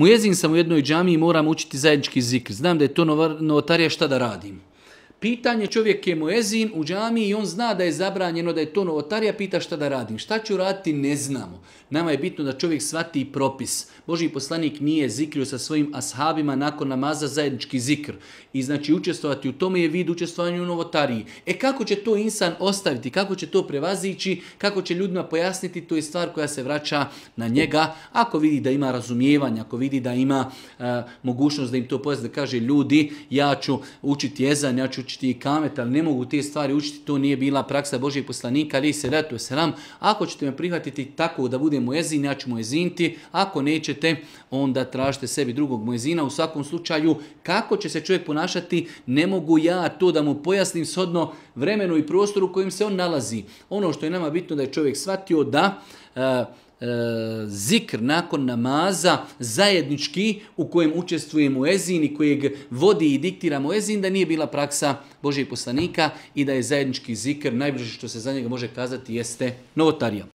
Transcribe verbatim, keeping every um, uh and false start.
Muezin sam u jednoj džamiji, moram učiti zajednički zikr. Znam da je to novotarija, šta da radim? Pitanje, čovjek je muezin u džamiji i on zna da je zabranjeno, da je to novotarija, pita šta da radim. Šta ću raditi, ne znamo. Nama je bitno da čovjek shvati propis. Božji poslanik nije zikrio sa svojim ashabima nakon namaza zajednički zikr. I znači učestvovati u tome je vid učestvovanja u novotariji. E kako će to insan ostaviti, kako će to prevazići, kako će ljudima pojasniti, to je stvar koja se vraća na njega. Ako vidi da ima razumijevanja, ako vidi da ima uh, mogućnost da im to pojasni, da kaže ljudi, ja ću učiti jezan, ja ću učiti i kamet, ali ne mogu te stvari učiti, to nije bila praksa Božjeg poslanika, ali se datu selam. Ako ćete me prihvatiti tako da budem muezin, ja ću muezinti, ako nećete, onda tražite sebi drugog muezina. U svakom slučaju, kako će se čovjek ponašati, ne mogu ja to da mu pojasnim shodno vremenu i prostoru u kojem se on nalazi. Ono što je nama bitno da je čovjek shvatio da uh, zikr nakon namaza zajednički u kojem učestvuje muezin i kojeg vodi i diktira muezin, da nije bila praksa Božjeg poslanika i da je zajednički zikr najbliže što se za njega može kazati jeste novotarija.